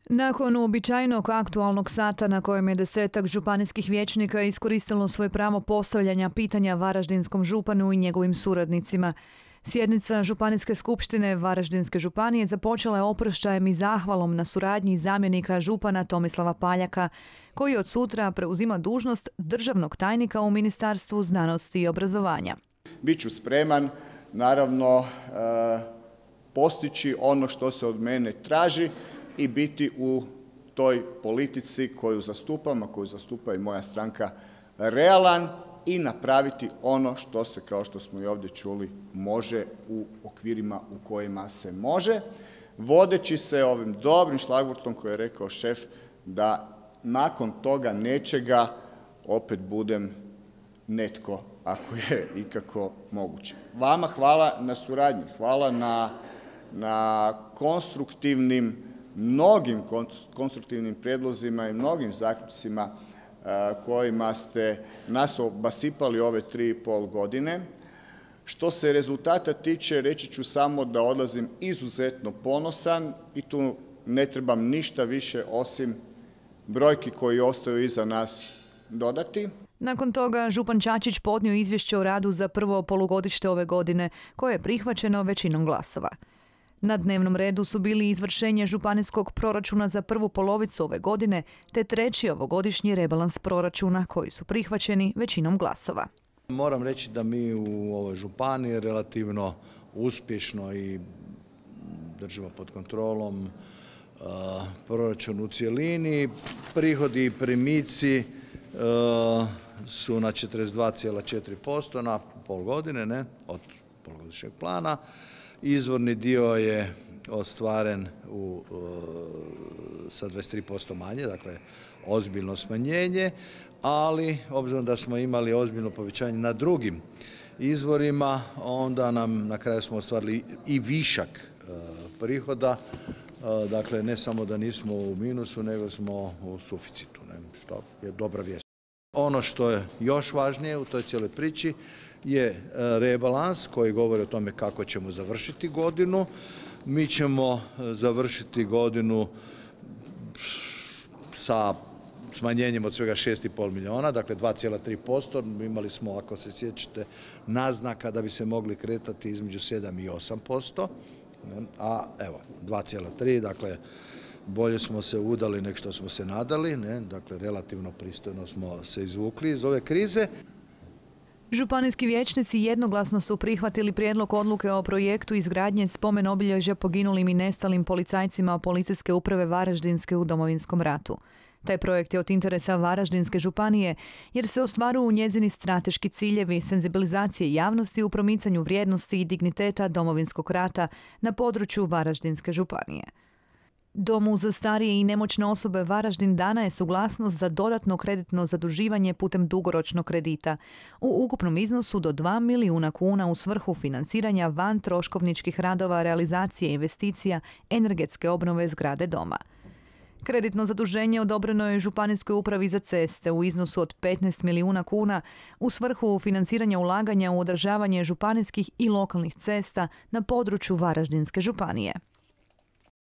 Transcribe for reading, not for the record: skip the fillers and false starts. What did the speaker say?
Nakon uobičajenog aktualnog sata na kojem je 10-ak županijskih vijećnika iskoristilo svoje pravo postavljanja pitanja varaždinskom županu i njegovim suradnicima, sjednica Županijske skupštine Varaždinske županije započela je oprošćajem i zahvalom na suradnji zamjenika župana Tomislava Paljaka, koji od sutra preuzima dužnost državnog tajnika u Ministarstvu znanosti i obrazovanja. Biću spreman, naravno, postići ono što se od mene traži i biti u toj politici koju zastupam, a koju zastupa i moja stranka, realan i napraviti ono što se, kao što smo i ovdje čuli, može u okvirima u kojima se može, vodeći se ovim dobrim šlagvortom koji je rekao šef da nakon toga nečega opet budem netko, ako je ikako moguće. Vama hvala na suradnji, hvala na mnogim konstruktivnim prijedlozima i mnogim zaključcima kojima ste nas obasipali ove 3,5 godine. Što se rezultata tiče, reći ću samo da odlazim izuzetno ponosan i tu ne trebam ništa više osim brojki koji ostaju iza nas dodati. Nakon toga župan Čačić podnio izvješće o radu za prvo polugodište ove godine, koje je prihvaćeno većinom glasova. Na dnevnom redu su bili izvršenje županijskog proračuna za prvu polovicu ove godine te treći ovogodišnji rebalans proračuna koji su prihvaćeni većinom glasova. Moram reći da mi u ovoj županiji relativno uspješno i držimo pod kontrolom proračun u cjelini. Prihodi i primici su na 42,4% na pol godine od polugodišnjeg plana. Izvorni dio je ostvaren sa 23% manje, dakle ozbiljno smanjenje, ali obzirom da smo imali ozbiljno povećanje na drugim izvorima, onda nam na kraju smo ostvarili i višak prihoda, dakle ne samo da nismo u minusu, nego smo u suficitu, što je dobra vijest. Ono što je još važnije u toj cijeloj priči je rebalans koji govori o tome kako ćemo završiti godinu. Mi ćemo završiti godinu sa smanjenjem od svega 6,5 milijuna, dakle 2,3%. Imali smo, ako se sjećate, naznaka da bi se mogli kretati između 7 i 8%, a evo 2,3%, dakle bolje smo se udali nego što smo se nadali, dakle relativno pristojno smo se izvukli iz ove krize. Županijski vijećnici jednoglasno su prihvatili prijedlog odluke o projektu izgradnje spomen obilježja poginulim i nestalim policajcima Policijske uprave Varaždinske u Domovinskom ratu. Taj projekt je od interesa Varaždinske županije jer se ostvaruju njezini strateški ciljevi senzibilizacije javnosti u promicanju vrijednosti i digniteta Domovinskog rata na području Varaždinske županije. Domu za starije i nemoćne osobe Varaždin dana je suglasnost za dodatno kreditno zaduživanje putem dugoročnog kredita u ukupnom iznosu do 2 milijuna kuna u svrhu financiranja van troškovničkih radova realizacije investicija energetske obnove zgrade doma. Kreditno zaduženje odobreno je Županijskoj upravi za ceste u iznosu od 15 milijuna kuna u svrhu financiranja ulaganja u održavanje županijskih i lokalnih cesta na području Varaždinske županije.